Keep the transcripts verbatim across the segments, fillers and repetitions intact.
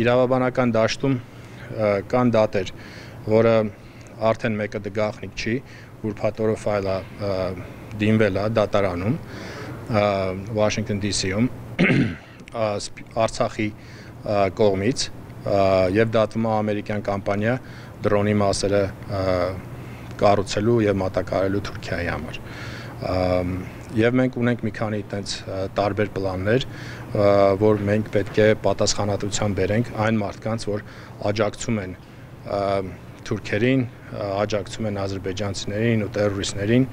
իրավաբանական դաշտում կան դատեր, որը արդեն մեկը դգաղնիկ չի, ուրբաթ ֆայլը դիմվել է դատարանում Վաշինգտոն դի սիում Արցախի կողմից եւ դատվում է ամերիկյան կամպանիա դրոնի մասերը կառուցելու եւ մատակարարելու Թուրքիայի համար։ Եվ մենք ունենք մի քանի այդպես տարբեր պլաններ, որ մենք պետք է պատասխանատվության բերենք այն մարդկանց, որ աջակցում են թուրքերին, աջակցում են ադրբեջանցիներին ու տերորիստներին,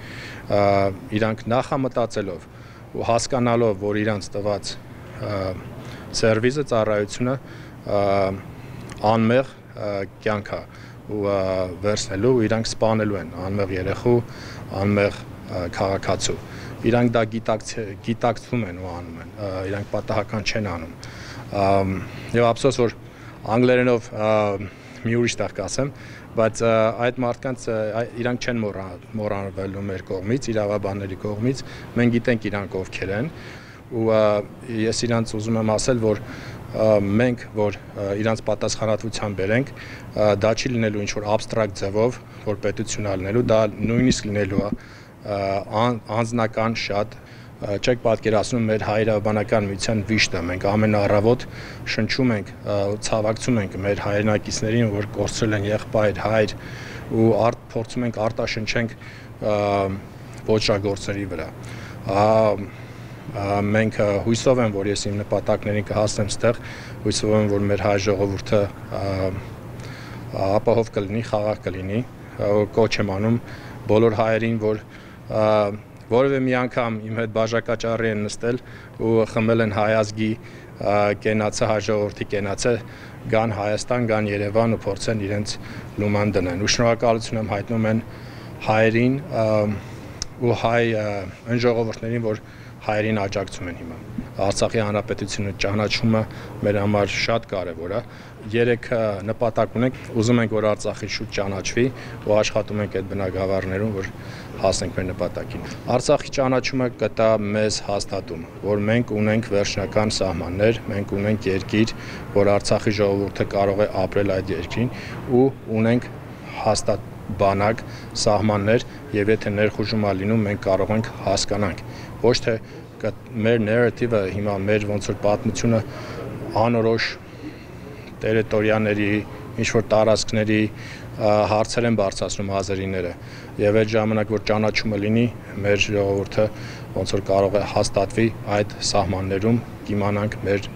իրանք նախամտածելով ու հասկանալով, որ իրանց տված սերվիզը, ծառայությունը անմեղ կյանք է ու վերցնելու, իրանք սպանելու են անմեղ երեխու, անմեղ քաղաքացու։ Իրանք դա գիտակցում են ու անում են, իրանք պատահական չեն անում։ Եվ ափսոս, որ անգլերենով մի ուրիշ տեղ կասեմ, բայց այդ մարդկանց իրանք չեն մոռանվելու մեր կողմից, իրավաբանների կողմից, մենք գիտենք իրանք ովքեր են, ու ես իրանց ուզում եմ ասել, որ մենք, որ իրանց պատասխանատվության բերենք, դա չի լինելու ինչ-որ абստրակտ ձևով, որ պետություն է լինելու, դա նույնիսկ լինելու է անձնական շատ, չեք պատկերացնում մեր հայրենական միության վիշտը, մենք ամեն առավոտ շնչում ենք, ցավակցում ենք մեր հայրենակիցներին, որ կորցրել են եղբայր, հայր ու փորձում ենք արտաշնչենք ոճրագործների վրա։ Մենք հույսով եմ, որ ես իմ նպատակներին կհասնեմ ստեղ, հույսով եմ, որ մեր հայ ժողովուրդը ապահով կլինի, խաղաղ կլինի, կոչ եմ անում բոլոր հայերին, որ որևէ մի անգամ իմ հետ բաժակաճառի են նստել ու խմել են հայ ազգի կենացը, հայ ժողովրդի կենացը, գան Հայաստան, գան Երևան ու փորձեն իրենց լուման դնեն։ Ու շնորհակալություն եմ հայտնում են հայերին ու հայ այն ժողովուրդներին, որ հայերին աջակցում են հիմա։ Արցախի հանրապետությունը ճանաչումը մեր համար շատ կարևոր է։ Երեք նպատակ ունենք, ուզում ենք, որ Արցախի շուտ ճանաչվի ու աշխատում ենք այդ բնակավարներում, որ հասնենք մեր նպատակին։ Արցախի ճանաչումը կտա մեզ հաստատում, որ մենք ունենք վերջնական սահմաններ, մենք ունենք երկիր, որ Արցախի ժողովուրդը կարող է ապրել այդ երկրին ու ունենք հաստատ բանակ, սահմաններ եւ եթե ներխուժում է լինում, մենք կարող ենք հասկանանք։ Ոչ թե մեր նարատիվը հիմա մեր ոնց որ պատմությունը անորոշ տերիտորիաների, ինչ-որ տարածքների հարցեր են բարձրացնում ազերիները եւ այդ ժամանակ որ ճանաչումը լինի, մեր ժողովուրդը ոնց որ կարող է հաստատվի այդ սահմաններում, կիմանանք մեր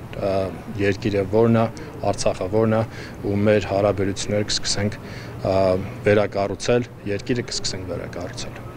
երկիրը որն է, Արցախը որն է ու մեր հարաբերությունները կսկսենք վերակառուցել, երկիրը կսկսենք վերակառուցել։